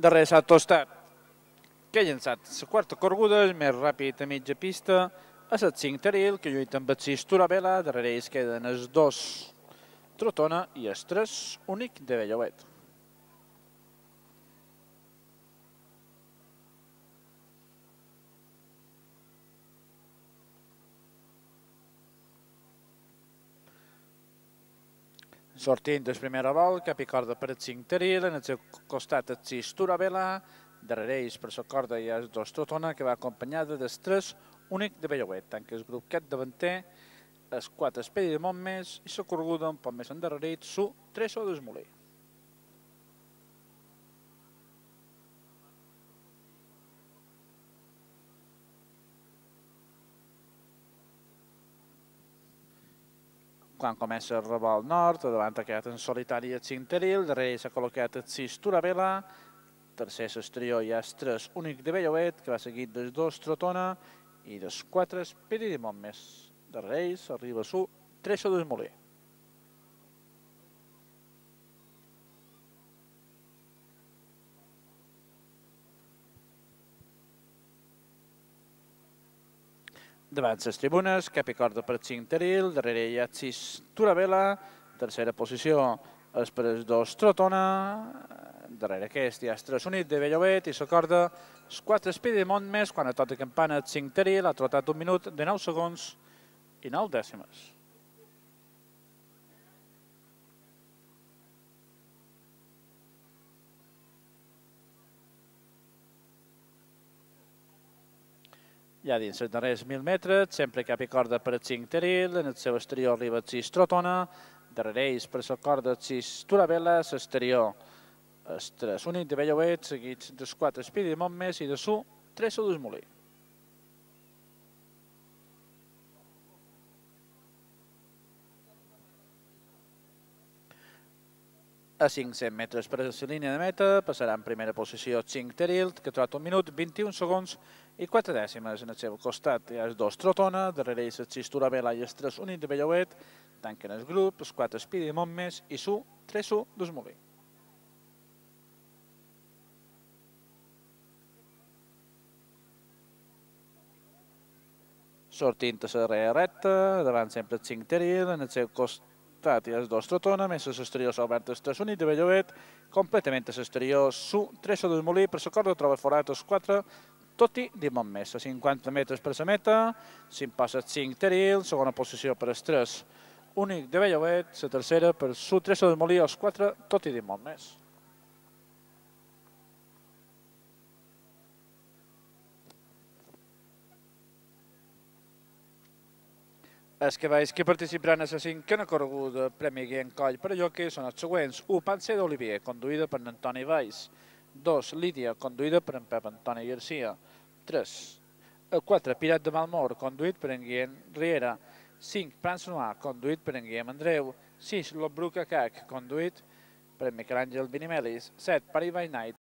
Darrere s'ha tostat, que ha llançat la quarta correguda, és més ràpid a mitja pista, a les 5 Taril, que lluita amb el 6 Turabela, darrere ells queden els 2 Trotona i els 3 Únic de Bellauet. Sortint del primer vol, cap i corda per el 5 Taril, en el seu costat el 6 Turabela, darrere ells per la corda hi ha els 2 Trotona, que va acompanyada dels 3 Únic de Bellauet, tant que el grup capdavanter, els 4 Esperi de Montmès i la correguda un poc més endarrerit, su Treso d'Esmoler. Quan comença el revolt nord, davant ha quedat en solitari el 5 Taril, darrere s'ha col·locat el 6 Turabela, tercer l'exterior hi ha el 3 Únic de Bellauet, que va seguit dels 2 Trotona i dels 4 Esperi de Montmès. Darrere ells arriba su Treso d'Esmoler. Davant les tribunes, cap i corda per 5 Taril, darrere hi ha 6 Turabela, tercera posició és per els 2 Trotona, darrere aquest hi ha el 3 Únic de Bellauet i la corda els 4 Esperi de Montmès, quan a tota campana el 5 Taril ha trotat 1 minut de 9 segons i 9 dècimes. Ja dins els darrers 1.000 metres, sempre cap i corda per el 5 Taril, en el seu exterior arriba el 6 Trotona, darrere ells per la corda el 6 Turabela, l'exterior el 3 Únic de Bellauet, seguits dels 4 Esperi de Montmès i de su Treso d'Esmoler. A 500 metres per la línia de meta passarà en primera posició 5 Taril, que trota 1 minut, 21 segons i 4 dècimes. En el seu costat hi ha els 2 Trotona, darrere ells el 6 Turabela i el 3 Únic de Bellauet, tanquen el grup, els 4 Esperi de Montmès i su Treso d'Esmoler. Sortint a la darrera recta, davant sempre el 5 Taril, en el seu costat hi ha els 2 Trotona, més a l'exterior s'ha obert el 3 Únic de Bellauet, completament a l'exterior su Treso d'Esmoler, per la corda troba forat els 4 Toti de Montmès. A 50 metres per la meta, s'imposa el 5 Taril, segona posició per el 3 Únic de Bellauet, la tercera per su Treso d'Esmoler, els 4 Toti de Montmès. Els cavalls que participaran a la cinquena correguda Premi Guillem Coll per a jockey són els següents. 1. Panser d'Olivier, conduïda per Antoni Valls. 2. Lídia, conduïda per en Pep Antoni Garcia. 3. El 4. Pirat de Malmor, conduït per en Guillem Riera. 5. Prans Noir, conduït per en Guillem Andreu. 6. Lobruca Cac, conduït per en Miquel Àngel Binimelis. 7. Paris by Night,